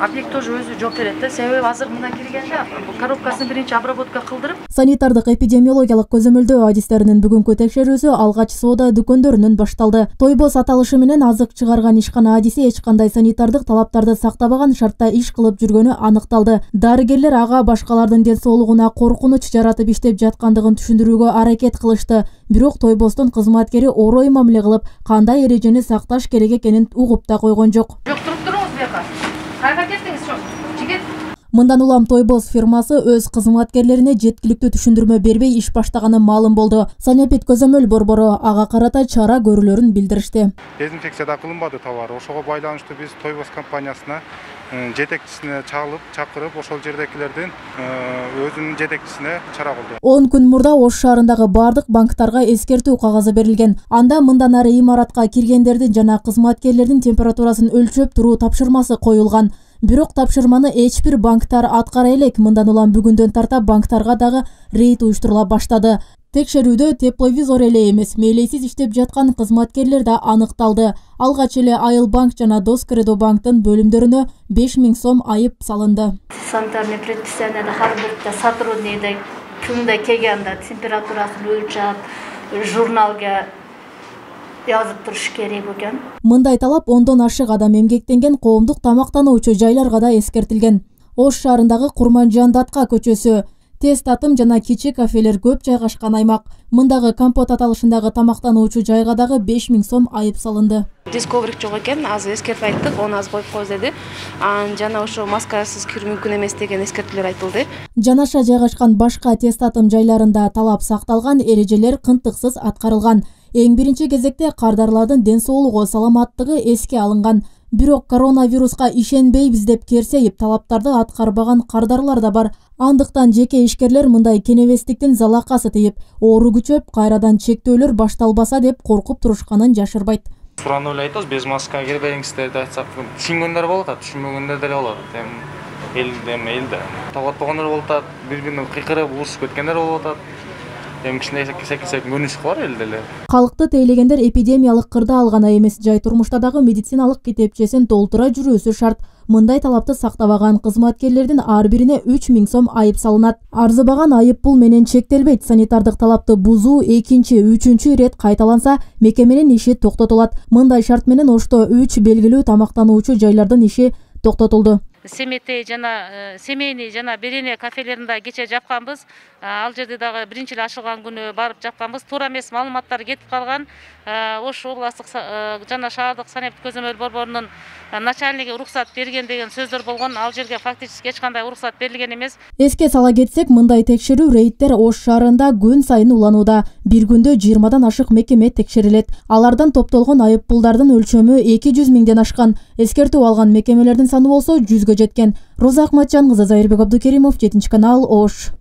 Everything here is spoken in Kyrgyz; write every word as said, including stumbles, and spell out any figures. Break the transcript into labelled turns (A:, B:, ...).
A: объект тоже өзү жооп берет да. Себеби азыр мына киргенде коробкасын биринчи обработка кылдырып.
B: Санитардык эпидемиологиялык көзөмөлдөө адистеринин бүгүнкү текшерүүсү алгач соода дүкөндөрүнөн башталды. Тойбос аталышы менен азык чыгарган ишкана адиси эч кандай санитардык талаптарды сактабаган шартта иш кылып жүргөнү аныкталды. Дарыгерлер ага башкалардын ден соолугуна коркунуч жаратып иштеп жаткандыгын түшүндүрүүгө аракет кылышты. Бирок Тойбостун кызматкери орой мамиле кылып, кандай эрежени сакташ керек экенин угуп да койгон жок.
A: Жок, туруп туруңуз буяка. Кайга кеттиңиз, жигит?
B: Мындан улам Тойбос фирмасы өз кызматкерлерине жеткиликтүү түшүндүрмө бербей иш баштаганы маалым болду. Санепид көзөмөл борбору ага карата чара көрүүлөрүн билдиришти.
C: Дезинфекция да кылынбады товар. Ошого байланыштуу биз Тойбос компаниясына жетекчисине чалып, чакырып, ошол жердекилердин өзүнүн жетекчисине чара кылды.
B: он күн мурда Ош шаарындагы бардык банктарга эскертүү кагазы берилген. Анда мындан ары имаратка киргендердин жана кызматкерлердин температурасын өлчөп туруу тапшырмасы коюлган. Бирок тапшырманы эч бир банктар аткара элек. Мындан улам бүгүндөн тарта банктарга дагы рейд уюштурула баштады. Текшерүүдө тепловизор эле эмес, мээлейсиз иштеп жаткан кызматкерлер да аныкталды. Алгач эле Айыл банк жана Доскредо банктын бөлүмдөрүнө беш миң сом айып салынды.
D: Санитарный предписаниеде ар бир сотрудникте күндө келгенде температурасын өлчөп, журналга жазып туруш керек экен.
B: Мындай талап ондон ашык адам эмгектенген коомдук тамактануучу жайларга да эскертилген. Ош шаарындагы Курманжандатка көчөсү, Тест атым жана кичи кафелер көп жайгашкан аймак. Мындагы компот аталышындагы тамактануучу жайга дагы беш миң сом айып салынды.
E: Дисковрик жок экен, азыр эскертип айттык, оны аз коюп коебуз деди. Жана ошо маскасыз кирүү мүмкүн эмес деген эскертүүлөр айтылды.
B: Жанаша жайгашкан башка тест атым жайларында талап сакталган, эрежелер кынтыксыз аткарылган. Эң биринчи кезекте кардарлардын ден соолугу, саламаттыгы эске алынган. Бирок коронавируска ишенбейбиз деп керсейип талаптарды аткарбаган кардарлар да бар. Андыктан жеке ишкерлер мындай кенебестиктин залакасы тийип, оору күчөп, кайрадан чектөөлөр башталбаса деп коркуп турушканын жашырбайт.
F: Сураны эле айтабыз, без маска кирбеңиздер деп айтсак, түшүнгөндөр болот, түшүнбөгөндөр деле болот. Эми эл эми элде талап болгондор болуп атат, бири-бирине кыйкырып, урушуп кеткендер болуп атат. Эми кичине секи-секи көрүнүш бар элде эле.
B: Калкты тейлегендер эпидемиялык кырда алган эмес, жай турмушта дагы медициналык китепчесин толтура жүрүүсү шарт. Мындай талапты сактабаган кызматкерлердин ар бирине үч миң сом айып салынат. Арзыбаган айып пул менен чектелбейт. Санитардык талапты бузуу экинчи, үчүнчү ирет кайталанса, мекеменин иши токтотулат. Мындай шарт менен Ошто үч белгилүү тамактануучу жайлардын иши токтотулду.
G: Семетей жана семейный жана Берене кафелеринде кече жапканбыз. Ал жерде дагы биринчи эле ачылган күнү барып жапканбыз. Туура эмес маалыматтар кетип калган. Ош областык жана шаардык санепид көзөмөл борборунун начальниги уруксат берген деген сөздөр болгон. Ал жерге фактически эч кандай уруксат берилген эмес.
B: Эске сала кетсек, мындай текшерүү рейдтер Ош шаарында күн сайын уланууда. Бир күндө жыйырмадан ашык мекеме текшерилет. Алардан топтолгон айып пулдардын өлчөмү эки жүз миңден ашкан. Эскертүү алган мекемелердин саны болсо жүзгө жеткен. Роза Акматжан кызы, Зайырбек Абдукеримов, жетинчи канал, Ош.